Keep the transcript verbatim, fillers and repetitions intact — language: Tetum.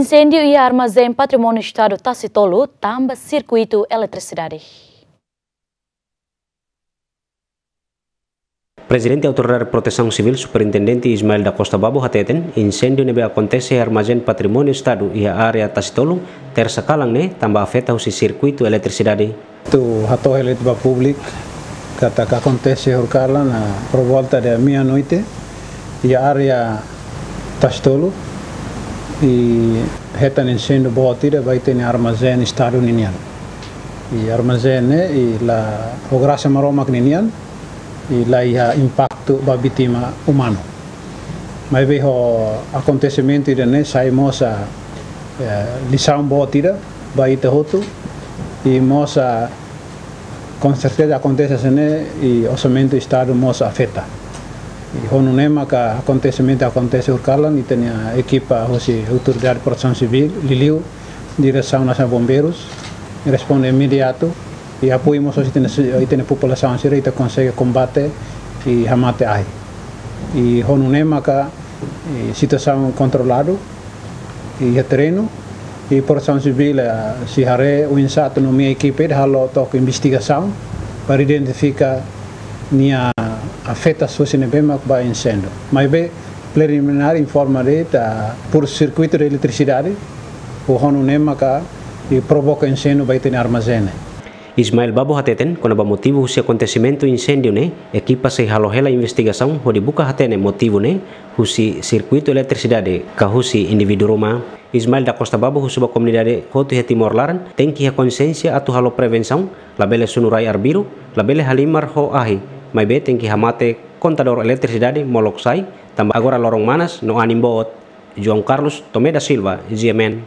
Insêndiu iha Armazén Patrimóniu Estadu Tasitolu tamba sirkuitu eletrisidade. Prezidente Autoridade Protesaun Sivíl, Superintendente Ismael da Costa Babo hateten, insêndiu ne'ebé akontese iha Armazén Patrimóniu Estadu iha área Tasitolu, tersa kalan ne'e, tamba afeta husi sirkuitu eletrisidade. Atu hato'o hela ba públiku katak akontese horikalan, ah, por volta de meia-noite, iha área Tasitolu, i hetan insêndiu boot ida ba ita-nia armazén Estadu ninian. I armazén ne'e, i la, ho grasa Maromak ninian, i la iha impaktu ba vítima umanu. Maibé ho akontesimentu ida-ne'e sai mós, eh, lisaun boot ida ba ita hotu, i mós, ah, konserteza akontese hanesan ne'e i orsamentu Estadu mós afeta. I ho nune'e maka akontesimentu akontese horikalan, ita-nia ekipa husi Autoridade Protesaun Sivíl, liuliu Diresaun Nasionál Bombeirus, responde imediatu, i apoiu mós ita-nia, ita-nia populasaun sira, ita konsege kombate i hamate ahi. I ho nune'e maka, i situasaun kontroladu, i iha terrenu, i Protesaun Sivíl, eh, sei haree oinsá atu nomeia ekipa ida halo took investigasaun, para identifika nia afeta husi ne'ebé mak ba insêndiu. Maibé, preliminár informa de'it, ah, por sirkuitu de eletrisidade, ho nune'e maka, i provoka insêndiu ba ita-nia armazén. Ismael Babo hateten, kona-ba motivu husi akontesimentu insêndiu ne'e, ekipa sei halo hela investigasaun hodi buka hatene motivu ne'e, husi sirkuitu eletrisidade, ka husi indivíduu ruma. Ismael da Costa Babo husu ba komunidade hotu iha Timor laran, tenke iha konsiénsia atu halo prevensaun, labele sunu rai arbiru, labele halimar ho ahi, maibé tenke hamate kontadór eletrisidade molok sai, tamba agora loron manas no anin boot. João Carlos Tomé da Silva, G M N.